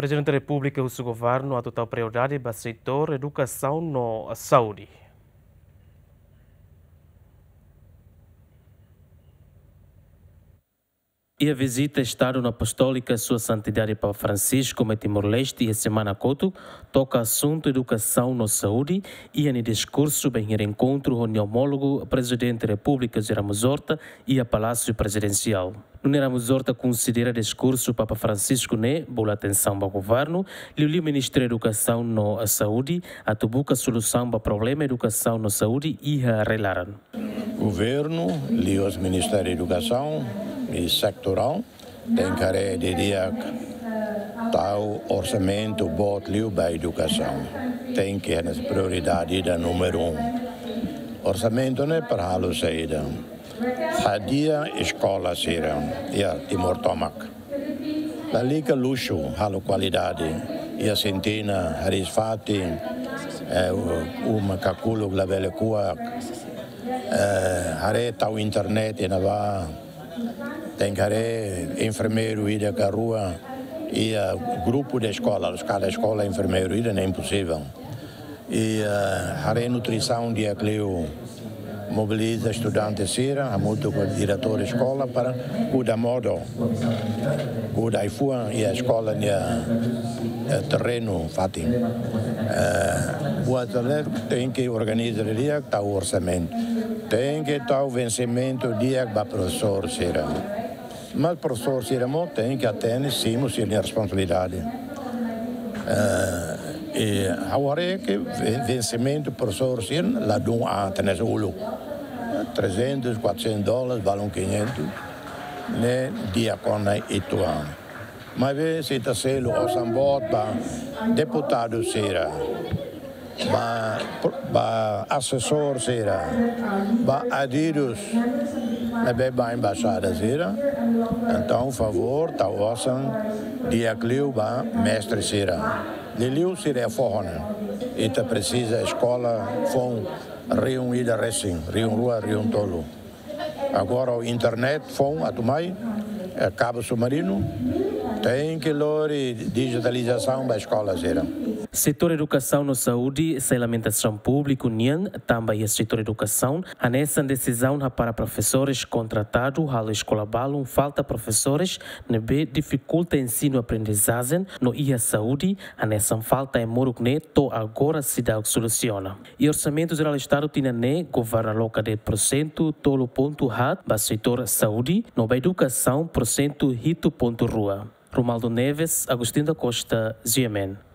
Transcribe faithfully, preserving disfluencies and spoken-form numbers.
Prezidente Repúblika husu governu atu tau prioridade ba setór edukasaun no saúde. Iha vizita Estadu Apostólika Sua Santidade Papa Francisco mai Timor-Leste iha semana kotuk, toka asuntu edukasaun no saúde, iha nia diskursu bainhira enkontru ho nia omólogu Prezidente Repúblika José Ramos Horta iha Palásiu Prezidensiál. Nune'e Ramos Horta konsidera diskursu Papa Francisco ne'e bolu atensaun ba governu, liuliu Ministériu Edukasaun no Saúde, atu buka solusaun ba problema edukasaun no saúde iha rai-laran. Governu, liuhusi Ministériu Edukasaun i setorál, tenke haree didi'ak tau orsamentu boot liu ba edukasaun. Tenke hanesan prioridade ida númeru um. Orsamentu ne'e para halo saida? Hadi'a eskola sira iha Timor tomak. Lalika luxu, halo kualidade. Iha sintina, hariis-fatin, eh, u-, uma kakuluk labele kuak. Eh, haree tau internet iha ne'ebá. Tenke haree enfermeiru ida ka rua iha grupu de eskola, kada eskola enfermeiru ida, ne'e imposivel. I, eh, haree nutrisaun di'ak liu, mobiliza estudante sira, hamutuk ho diretór eskola para kuda modo, kuda ai-fuan iha eskola nia, eh, terrenu fatin. Eh, buat ne'e tenke organiza di'ak, tau orsamentu. Tenke tau vensimentu di'ak ba profesór sira. Mas profesór sira mós tenke atende, simu sira-nia responsabilidade. Eh, i ha'u haree ke ven-, vensimentu profesór sira ladún an, tenke uluk. Trezentos, quatrocentos dólares, balun quinhentos, ne'e di'ak ona uitoan. Maibé, se ita selu osan boot ba deputadu sira, ba, ba asesór sira, ba adidos ne'ebé ba embaixada sira. Entaun, favór, tau osan di'ak liu ba mestre sira. Liuliu sira iha foho ne'e. Ita presiza eskola foun rihun ida resin, rihun rua, rihun tolu. Agora ho internet foun atu mai, eh, kabu submarinu, tenke lori dijitalizasaun ba eskola sira. Setór edukasaun no saúde sai lamentasaun públiku nian, tanba iha setór edukasaun, hanesan desizaun hapara profesores kontratadu halo eskola balun falta profesores, ne'ebé difikulta ensinu-aprendizajen, no iha saúde, hanesan falta ai-moruk ne'e to'o agora seidauk solusiona. I Orsamentu Jerál Estadu tinan ne'e, governu aloka de'it porsentu tolu pontu haat ba setór saúde, no ba edukasaun porsentu hitu pontu rua. Romualdo Neves, Agostinho da Costa, G M N.